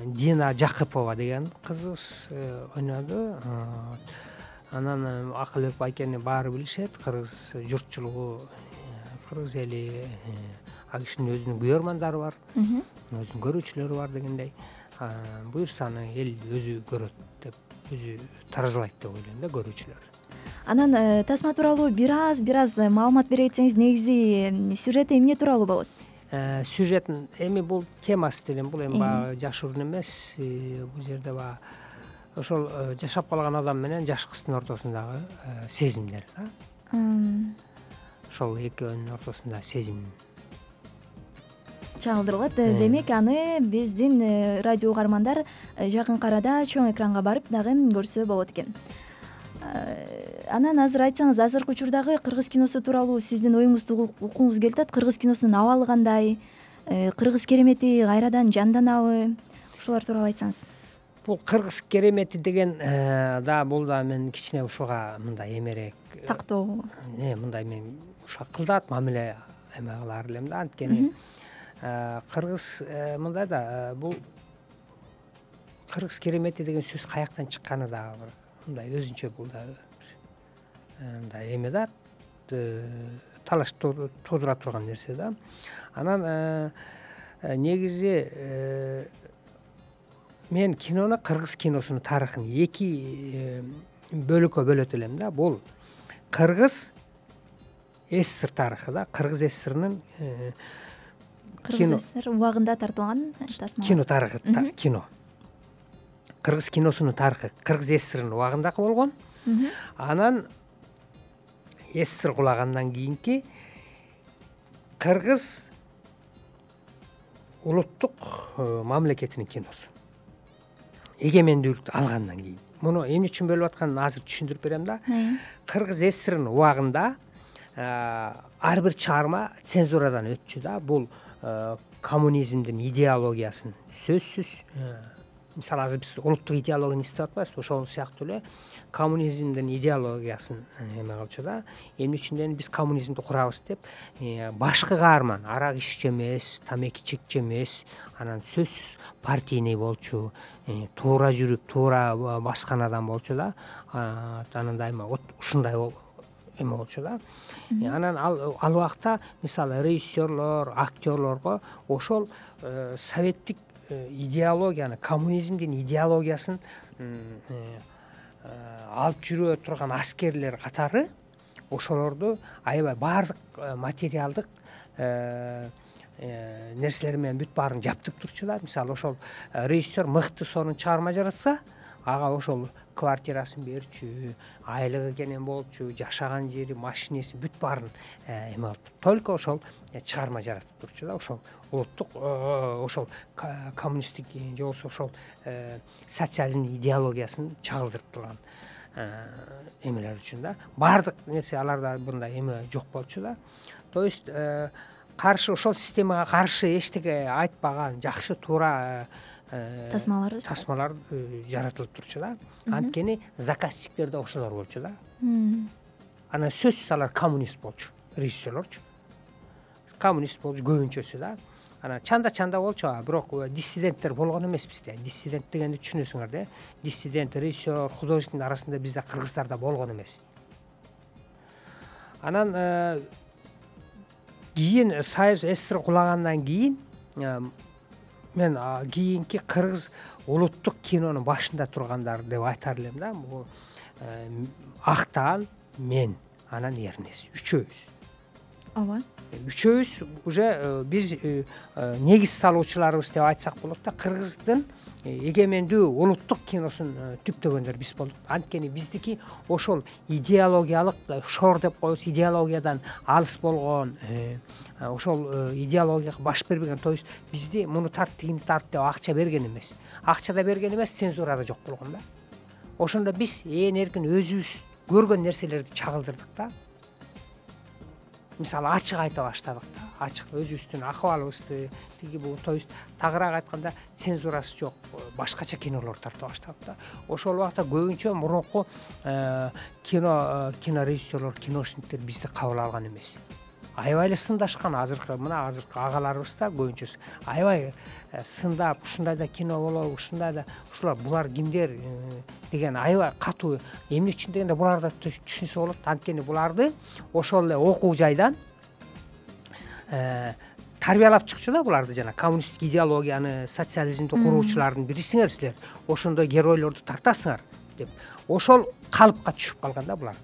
Дина Жакыпова деген кызыбыз ойноду. Анан Акылбек байкени баары билишет, кыргыз журтчулугу, кыргыз эли, ал кишинин өзүнүн күйөрмандары бар, өзүнүн көрүүчүлөрү бар дегендей. Буюрсаны эл өзү көрөт деп, өзү таразалайт деп ойлойм да, көрүүчүлөр. Анан тасма тууралуу бир аз маалымат бере кетсеңиз, негизи сюжети эмне тууралуу болот? Сюжетин эми бул темасы делем, бул эми баягы жашыруун эмес. Бул жерде баягы ошол жашап калган адам менен жаш кыздын ортосундагы сезимдер да. Ошол экөөнүн ортосунда сезим чагылдырылат. Демек аны биздин радио угармандар жакынкы арада чоң экранга барып дагы көрсө болот экен. Анан азыр айтсаңыз, азыркы учурдагы кыргыз киносу тууралуу сиздин оюңузду уккуңуз келип атат. Кыргыз киносунун абалы кандай? Кыргыз керемети кайрадан жанданабы? Ушулар тууралуу айтсаңыз. Бул кыргыз керемети деген да, бул да мен кичине ушуга мындай эмерээк тактоо. Мындай мен уша кылдат мамиле эме кылар элем да. Анткени кыргыз мындай да, бул кыргыз керемети деген сөз каяктан чыкканы дагы бир мындай өзүнчө, бул да мындай эме да, талаш туудура турган нерсе да. Анан негизи мен кинону, кыргыз киносунун тарыхын эки бөлүккө бөлөт элем да. Бул кыргыз СССР тарыхы да, кыргыз СССРнын Кыргыз СССР убагында тартылган тасма. Кино тарыхы, кино. Кыргыз киносунун тарыхы кыргыз СССРнын убагындагы болгон. Анан СССР кулагандан кийинки кыргыз улуттук мамлекетинин киносу. Эгемендүүлүктү алгандан кийин. Муну эмне үчүн бөлүп атканын азыр түшүндүрүп берем да. Кыргыз СССРнын убагында ар бир чыгарма цензурадан өтчү да. Бул коммунизмдин идеологиясын сөзсүз, мисалы азыр биз улуттук идеологияны издеп атпайбызбы, ошол сыяктуу эле коммунизмдин идеологиясын эме кылчу да. Эмне үчүн биз коммунизмди курабыз деп, башкы каарман арак иччү эмес, тамеки чекчү эмес, анан сөзсүз партийный болчу, туура жүрүп, туура баскан адам болчу да. Анан дайыма ушундай эме болчу да. Анан ал убакта мисалы режиссерлор, актерлорго ошол советтик идеологияны, коммунизмдин идеологиясын алып жүрө турган аскерлер катары ошолорду аябай баардык материалдык нерселер менен бүт баарын жаптып турчу да. Мисалы ошол режиссер мыкты сонун чыгарма жаратса, ага ошол квартирасын берчү, айлыгы кенен болчу, жашаган жери, машинеси бүт баарын эме кылып, только ошол чыгарма жаратып турчу да. Ошол улуттук, ошол коммунисттик же болбосо ошол социализм идеологиясын чагылдырып турган эмелер үчүн да. Баардык нерсе аларда мындай эме жок болчу да. То есть каршы, ошол системага каршы эчтеке айтпаган жакшы, туура тасмалар жаратылып турчу да. Анткени заказчиктер да ошолор болчу да. Анан сөзсүз алар коммунист болчу, режиссерлорчу. Коммунист болчу көбүнчөсү да. Анан чанда болчу, бирок диссиденттер болгон эмес бизде. Диссидент дегенди түшүнөсүңөр да. Диссидент, режиссер, художниктин арасында бизде кыргыздарда болгон эмес. Анан кийин Союз СССР кулагандан кийин мен кийинки кыргыз улуттук кинонун башында тургандар деп айтар элем да. Бул Актан, мен, анан Эрнес үчөөбүз. Ооба. Үчөөбүз уже биз негиз салуучуларыбыз деп айтсак болот да. Кыргыздын эгемендүү улуттук киносун түптөгөндөр биз болдук. Анткени биздики ошол идеологиялык шор деп коебуз, идеологиядан алыс болгон, ошол идеологияга баш бербеген, то есть бизди муну тарт, тигини тарт деп акча берген эмес. Акча да берген эмес, цензура да жок болгон да. Ошондо биз эркин өзүбүз көргөн нерселерди чагылдырдык да. Мисалы ачык айта баштадык да. Ачык өзүбүздүн акыбалыбызды, тиги бул, то есть тагыраак айтканда цензурасы жок, башкача кинолорду тарта баштадык да. Ошол убакта көбүнчө мурунку кинорежиссерлор, киношниктер бизди кабыл алган эмес. Аябай эле сындашкан. Азыркы агаларыбыз да көбүнчөсү аябай сындап, ушундай да кино болобу, ушундай да, ушулар булар кимдер деген аябай катуу. Эмне үчүн дегенде буларды түшүнсө болот. Анткени буларды ошол эле окуу жайдан тарбиялап чыкчу да, буларды жана коммунисттик идеологияны, социализмди куруучулардын бирисиңер силер, ошондой геройлорду тартасыңар деп ошол калыпка түшүп калган да булар.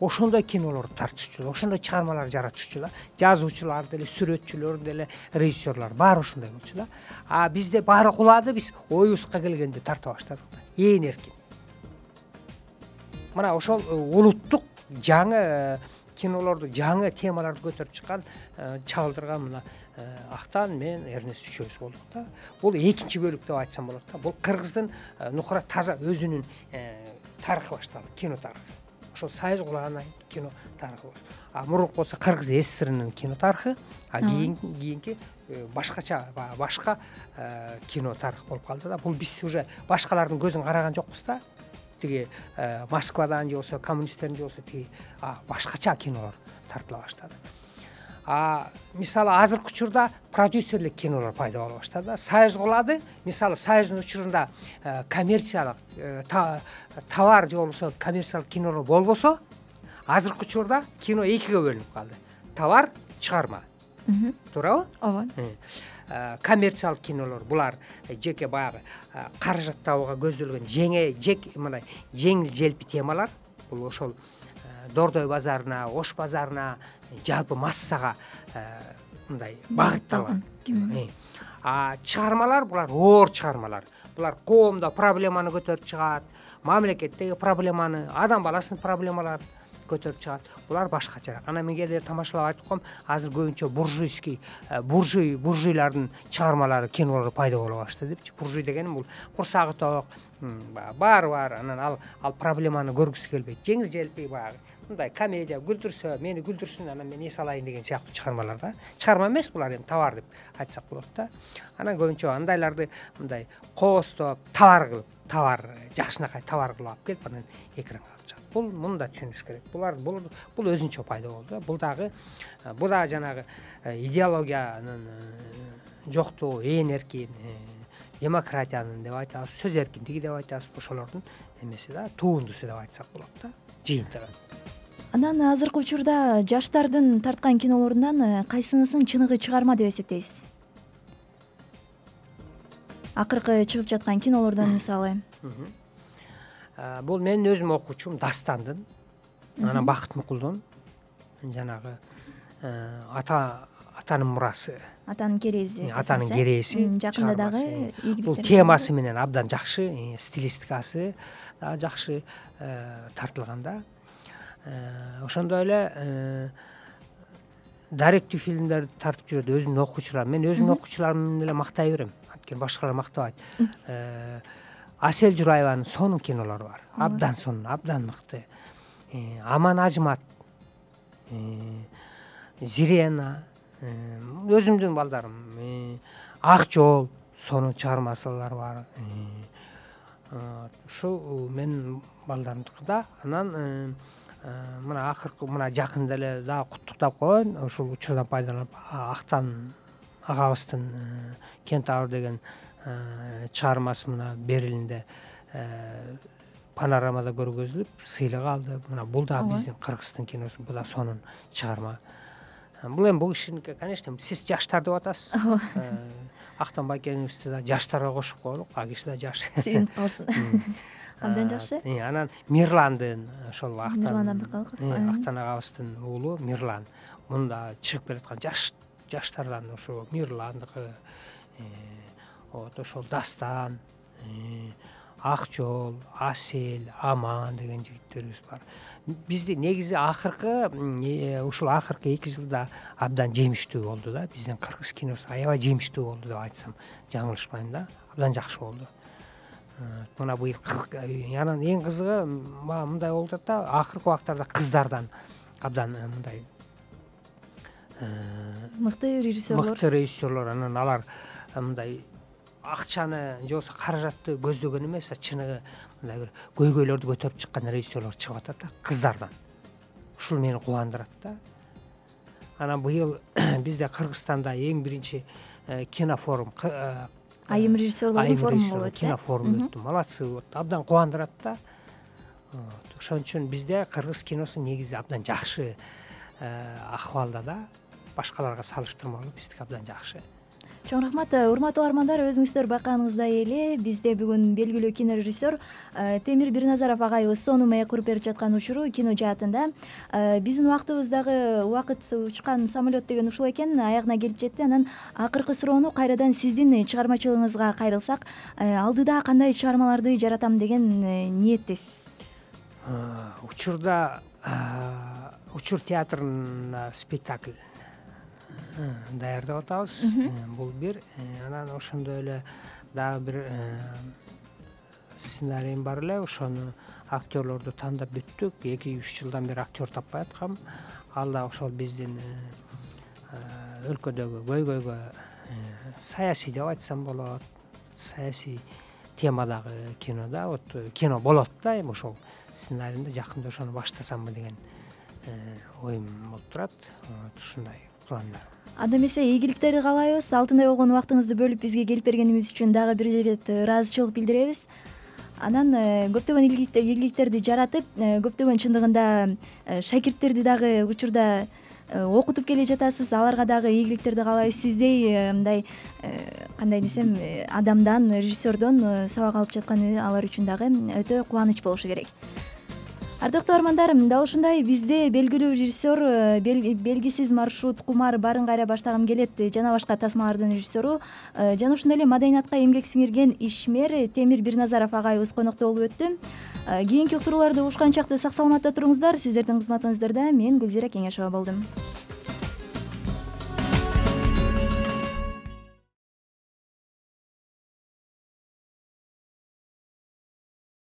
Ошондой кинолорду тартышчу, ошондой чыгармалар жаратышчу да. Жазуучулар деле, сүрөтчүлөр деле, режиссерлор баары ошондой болчу да. А бизде баары кулады, биз оюбузга келгенди тарта баштадык да. Эркин. Мына ошол улуттук жаңы кинолорду, жаңы темаларды көтөрүп чыккан, чагылдырган мына Актан, мен, Эрнест үчөөбүз болдук да. Бул экинчи бөлүк деп айтсам болот да. Бул Кыргыздын Нукура таза өзүнүн тарыхы башталды, кино тарыхы. Ошол Союз кулагандан кино тарыхы болсун. А мурунку болсо Кыргыз СССРнын кино тарыхы, а кийинки башкача, башка кино тарых болуп калды да. Бул биз уже башкалардын көзүн караган жокпуз да. Тиги Москвадан же болсо коммунисттердин же болсо тиги башкача кинолор тартыла баштады. Мисалы азыркы учурда продюсерлик кинолор пайда боло баштады. Союз кулады. Мисалы Союздун учурунда коммерциялык товар же болбосо коммерциялык кинолор болбосо, азыркы учурда кино экиге бөлүнүп калды. Товар, чыгарма. Туурабы? Ооба. Коммерциялык кинолор булар жеке баягы каражат табууга көзделген мындай жеңил желпи темалар. Бул ошол Дордой базарына, Ош базарына, жалпы массага мындай багытталган кино. Чыгармалар булар оор чыгармалар. Булар коомдо проблеманы көтөрүп чыгат, мамлекеттеги проблеманы, адам баласынын проблемаларын көтөрүп чыгат. Булар башкачараак. Анан мен кээде тамашалап айтып коем, азыр көбүнчө буржуйлардын чыгармалары, кинолору пайда боло баштады депчи. Буржуй деген бул курсагы ток, баары бар, анан ал проблеманы көргүсү келбейт. Жеңил желпи баягы мындай комедия, күлдүрсө, мени күлдүрсүн, анан мен эс алайын деген сыяктуу чыгармалар да. Чыгарма эмес булар, эми товар деп айтсак болот да. Анан көбүнчө андайларды мындай коостоп, товар жакшынакай товар кылып алып келип, анан экранга алып чыгат. Муну да түшүнүш керек. Бул өзүнчө пайда болду. Бул да жанагы идеологиянын жоктугу, эркин, демократиянын деп айтабыз, сөз эркиндиги деп айтабыз, ошолордун эмеси да, туундусу деп айтсак болот да, жыйынтыгы. Анан азыркы учурда жаштардын тарткан кинолорунан кайсынысын чыныгы чыгарма деп эсептейсиз? Акыркы чыгып жаткан кинолордон мисалы. Бул менин өзүм окуучум Дастандын, анан Бакыт Мукулдун жанагы атанын мурасы. Атанын керези. Атанын керези. Жакында дагы бул темасы менен абдан жакшы, стилистикасы да жакшы тартылган да. Ошондой эле даректүү фильмдерди тартып жүрөт өзүмдүн окуучуларым. Мен өзүмдүн окуучуларымды эле мактай берем. Анткени башкалар мактабайт. Асель Журайбанын сонун кинолору бар. Абдан сонун, абдан мыкты. Аман Ажмат, Зирена, өзүмдүн балдарым, Ак жол сонун чыгармалар бар. Ушул менин балдарымдыкы. Анан мына акыркы жакында эле дагы куттуктап коеюн. Ушул учурдан пайдаланып Актан агабыздын Кентавр деген чыгармасы мына Берлинде панорамада көргөзүлүп, сыйлык алды. Мына бул да биздин Кыргыздын киносу, бул да сонун чыгарма. Бул эми бул кишиники, конечно, сиз жаштар деп атасыз. Актан Байкеновичти да жаштарга кошуп коелук, а киши да жаш. Сүйүнүп калсын. Абдан жакшы. Анан Мирландын ошол Актан агабыздын уулу Мирлан. Мунда чыгып келаткан жаштардан ошо Мирландыкы, вот ошол Дастан, Ак жол, Асел, Аман деген жигиттерибиз бар. Бизди негизи ушул акыркы 2 жылда абдан жемиштүү болду да. Биздин кыргыз киносу аябай жемиштүү болду деп айтсам жаңылышпайм да. Абдан жакшы болду. Мына быйыл анан эң кызыгы мындай болуп атат да, акыркы убактарда кыздардан абдан мындай мыкты режиссерлор, анан алар мындай акчаны же болбосо каражатты көздөгөн эмес, чыныгы мындай бир көйгөйлөрдү көтөрүп чыккан режиссерлор чыгып атат да, кыздардан. Ушул мени кубандырат да. Анан быйыл бизде Кыргызстанда эң биринчи кинофорум, айым режиссерлордун форуму болуп өттү. Кинофорум өттү. Молодцы, вот абдан кубандырат да. Ошон үчүн бизде кыргыз киносу негизи абдан жакшы акыбалда да. Башкаларга салыштырмалуу биздики абдан жакшы. Чоң рахмат. Урматтуу угармандар, өзүңүздөр байкаганыңыздай эле бизде бүгүн белгилүү кинорежиссер Темир Бирназаров агайыбыз сонун маек куруп берип жаткан учуру кино жаатында. Биздин убактыбыздагы убакыт учкан самолет деген ушул экен, аягына келип жетти. Анан акыркы суроону кайрадан сиздин чыгармачылыгыңызга кайрылсак, алдыда кандай чыгармаларды жаратам деген ниеттесиз? Учурда Учур театрына спектакль даярдап атабыз. Бул бир. Анан ошондой эле дагы бир сценариym бар эле. Ошону актерлорду тандап бүттүк. 2-3 жылдан бери актер таппай аткам. Ал да ошол биздин өлкөдөгү көйгөйгө саясий деп айтсам болот. Саясий темадагы кинода, вот кино болот да, эми ошол сценарийимде жакында ошону баштасамбы деген оюм болуп турат. Ушундай пландар. Анда эмесе ийгиликтерди каалайбыз. Алтындай болгон убактыңызды бөлүп бизге келип бергениңиз үчүн дагы бир ирет ыраазычылык билдиребиз. Анан көптөгөн ийгиликтерди жаратып, көптөгөн чындыгында шакирттерди дагы учурда окутуп келе жатасыз. Аларга дагы ийгиликтерди каалайбыз. Сиздей мындай кандай десем, адамдан, режиссердон сабак алып жатканы алар үчүн дагы өтө кубаныч болушу керек. Ардактуу армандар, дал ушундай бизде белгилүү режиссер, белгисиз маршрут, Кумар, Барын кайра баштагым келет жана башка тасмалардын режиссеру, жана ошондой эле маданиятка эмгек сиңирген ишмер Темир Бирназаров агайыбыз конокто болуп өттү. Кийинки уктурууларды угушканчакты сак саламатта туруңуздар. Сиздердин кызматыңыздарда мен Гүлзира Кеңешова болдум.